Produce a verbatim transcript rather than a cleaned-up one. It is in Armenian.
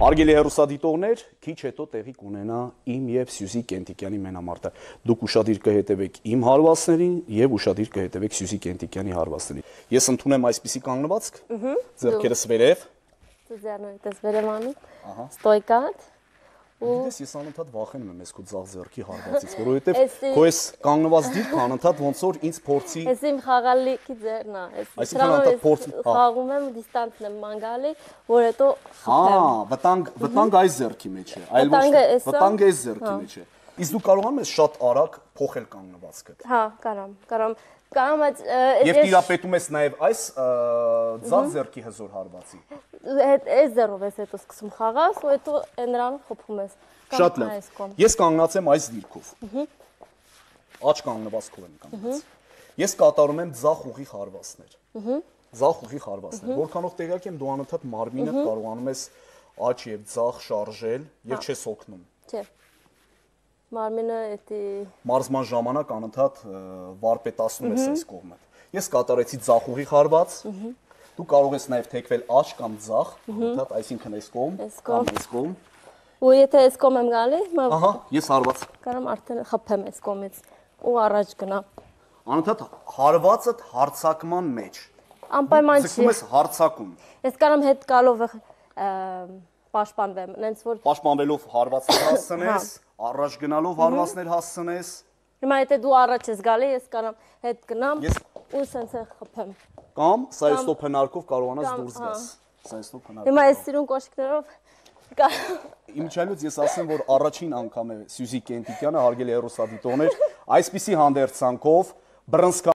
Հարգելի հեռուստադիտողներ, քիչ հետո տեղի կունենա իմ եւ Սյուզի Կենտիկյանի մենամարտը։ Դուք ուշադիր կհետևեք իմ հարվածներին եւ ուշադիր կհետևեք Սյուզի Կենտիկյանի հարվածներին։ Ես ընդունեմ այսպիսի կանգնվածք, ձեռքերս վերև։ Ձեռներս վերև անում։ Ահա։ Ստոյկատ։ Գիտես, ես անընդհատ վախենում եմ այս քո ձախ ձեռքի հարվածից, որովհետեւ քո այս կանգնված դիրքը անընդհատ ոնց որ ինձ փորձի։ Ես իմ խաղալիքի ձեռն է, այս դրանով խաղում եմ դիստանսն եմ մանգալի, որ հետո խփեմ։ Հա, վտանգ, վտանգ այս ձեռքի մեջ է, այլ ոչ վտանգ այս ձեռքի մեջ է։ Իսկ դու կարողանում ես շատ արագ փոխել կանգնվածքը։ Հա, կարամ, կարամ։ Կարամ այդ Եվ տիրապետում ես նաև այս ձախ ձեռքի հզոր հարվածի։ Այս ձեռով ես հետո սկսում խաղալ, ու հետո նրանով խփում ես։ Շատ լավ։ Ես կանգնած եմ այս դիրքով։ Աջ կանգնվածքով եմ կանգնած։ Ես կատարում եմ ձախ ուղի հարվածներ։ Ձախ ուղի հարվածներ։ Որքանով տեղյակ եմ, դու անընդհատ մարմինդ կարողանում ես աջ եւ ձախ շարժել եւ չես օգնում։ Չէ։ Մարմինը էտի մարզման ժամանակ անընդհատ վարպետացնում ես այս կողմը։ Ես կատարեցի ձախ ուղի հարված։ Դու կարող ես նաև թեքվել աջ կամ ձախ, անընդհատ, այսինքն այս կողմ կամ այս կողմ։ Ու եթե այս կողմ եմ գալի, ահա, ես հարված։ Կարամ արդեն խփեմ այս կողմից ու առաջ գնամ։ Անընդհատ հարվածդ հարցակման մեջ։ Անպայման չի։ Ձգում ես հարցակում։ Ես կարամ հետ գալով պաշտպանվեմ, նենց որ պաշտպանվելով հարվածներ հասցնես, առաջ գնալով հարվածներ հասցնես։ Հիմա եթե դու առաջ ես գալի, ես կարամ հետ գնամ ու սենց է խփեմ։ Կամ սայստոփ հնարքով կարողանաս դուրս գաս։ Սայստոփ հնարքով։ Հիմա այս սիրուն կոշիկներով Իմիջիայլոց ես ասեմ, որ առաջին անգամ է Սյուզի Կենտիկյանը, հարգելի հեռուստադիտողներ, այսպիսի հանդերձանքով բռնցքամարտի